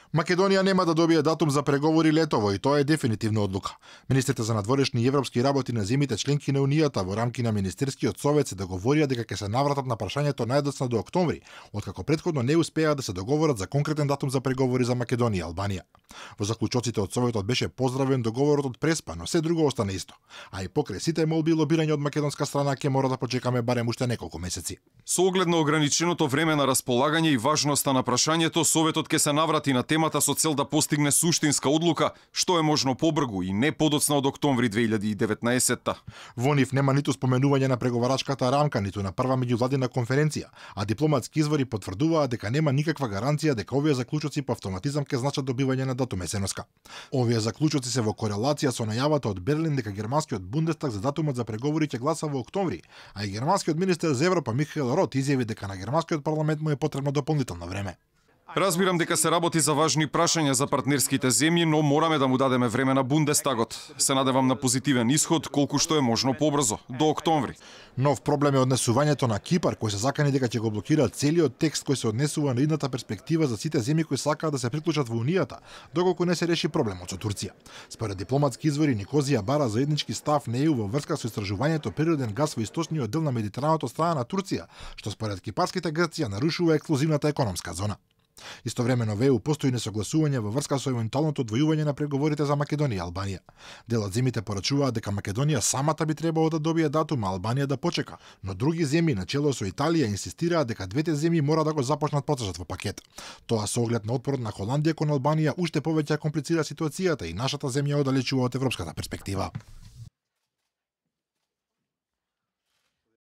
Македонија нема да добие датум за преговори летово и тоа е дефинитивна одлука. Министрите за надворешни и европски работи на земјите членки на Унијата во рамки на Министерскиот совет се договорија дека ќе се навратат на прашањето најдоцна до октомври, откако претходно не успеа да се договорат за конкретен датум за преговори за Македонија и Албанија. Во заклучоците од советот беше поздравен договорот од Преспа, но се друго остана исто. А и покрај сите молби и лобирање од македонска страна ќе мора да почекаме барем уште неколку месеци. Со оглед на ограниченото време на располагање и важноста на прашањето, советот ќе се наврати на темата со цел да постигне суштинска одлука, што е можно побрзо и не подоцна од октомври 2019-та. Во нив нема ниту споменување на преговарачката рамка, ниту на прва меѓувладина конференција, а дипломатски извори потврдуваат дека нема никаква гаранција дека овие заклучоци по автоматизам ќе значат добивање на датум есеноска. Овие заклучоци се во корелација со најавата од Берлин дека германскиот Бундестаг за датумот за преговори ќе гласа во октомври, а и германскиот министер за Европа Михаел Рот изјави дека на германскиот парламент му е потребно дополнително време. Разбирам дека се работи за важни прашања за партнерските земји, но мораме да му дадеме време на Бундестагот. Се надевам на позитивен исход колку што е можно побрзо, до октомври. Нов проблем е однесувањето на Кипар, кој се закани дека ќе го блокира целиот текст кој се однесува на идната перспектива за сите земји кои сакаат да се приклучат во Унијата, доколку не се реши проблемот со Турција. Според дипломатски извори, Никозија бара заеднички став на ЕУ во врска со истражувањето природен газ во источниот дел на Медитераното од страна на Турција, што според кипарските Грција нарушува ексклузивната економска зона. Истовремено во ЕУ постои несогласување во врска со евентуалното одвојување на преговорите за Македонија и Албанија. Дел од земјите порачуваат дека Македонија самата би требало да добие датум, а Албанија да почека, но други земји начело со Италија инсистираат дека двете земји мора да го започнат процесот во пакет. Тоа со оглед на отпорот на Холандија кон Албанија уште повеќе комплицира ситуацијата и нашата земја оддалечува од европската перспектива.